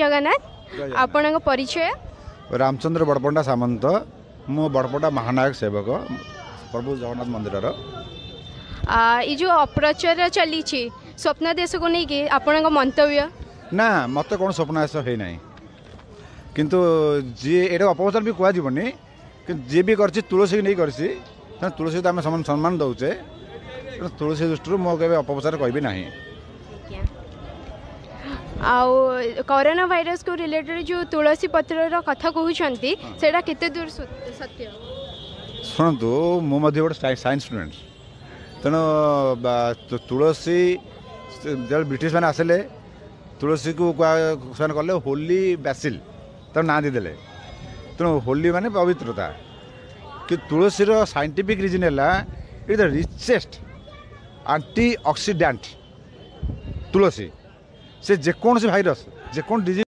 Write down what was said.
ଜଗନ୍ନାଥ। ଆପଣଙ୍କ ପରିଚୟ? ରାମଚନ୍ଦ୍ର ବଡ଼ପଣ୍ଡା ସାମନ୍ତ। ମୁଁ ବଡ଼ପଣ୍ଡା ମହାନାୟକ ସେବକ ପ୍ରଭୁ ଜଗନ୍ନାଥ ମନ୍ଦିରର। ଏଇ ଯେଉଁ ଅପପ୍ରଚାର ଚାଲିଛି ସ୍ୱପ୍ନାଦେଶକୁ ନେଇକି, ଆପଣଙ୍କ ମନ୍ତବ୍ୟ? ନା, ମୋତେ କ'ଣ ସ୍ୱପ୍ନାଦେଶ ହେଇନାହିଁ। କିନ୍ତୁ ଯିଏ ଏଇଟା ଅପପ୍ରଚାର ବି କୁହାଯିବନି, କିନ୍ତୁ ଯିଏ ବି କରିଛି ତୁଳସୀକି ନେଇ କରିଛି। ତେଣୁ ତୁଳସୀ ତ ଆମେ ସମ୍ମାନ ଦେଉଛେ। ତେଣୁ ତୁଳସୀ ଦୃଷ୍ଟିରୁ ମୁଁ କେବେ ଅପପ୍ରଚାର କହିବି ନାହିଁ। ଆଉ କରୋନା ଭାଇରସକୁ ରିଲେଟେଡ଼ ଯେଉଁ ତୁଳସୀ ପତ୍ରର କଥା କହୁଛନ୍ତି, ସେଇଟା କେତେ ଦୂର ସତ୍ୟ? ଶୁଣନ୍ତୁ, ମୁଁ ମଧ୍ୟ ଗୋଟେ ସାଇନ୍ସ ଷ୍ଟୁଡେଣ୍ଟ। ତେଣୁ ତୁଳସୀ ଯେତେବେଳେ ବ୍ରିଟିଶ ମାନେ ଆସିଲେ, ତୁଳସୀକୁ ସେମାନେ କଲେ ହୋଲି ବ୍ୟାସିଲ୍, ତାର ନାଁ ଦେଇଦେଲେ। ତେଣୁ ହୋଲି ମାନେ ପବିତ୍ରତା। କିନ୍ତୁ ତୁଳସୀର ସାଇଣ୍ଟିଫିକ୍ ରିଜନ୍ ହେଲା it the richest anti oxidant. ତୁଳସୀ ସେ ଯେକୌଣସି ଭାଇରସ୍, ଯେକୌଣସି ଡିଜିଜ୍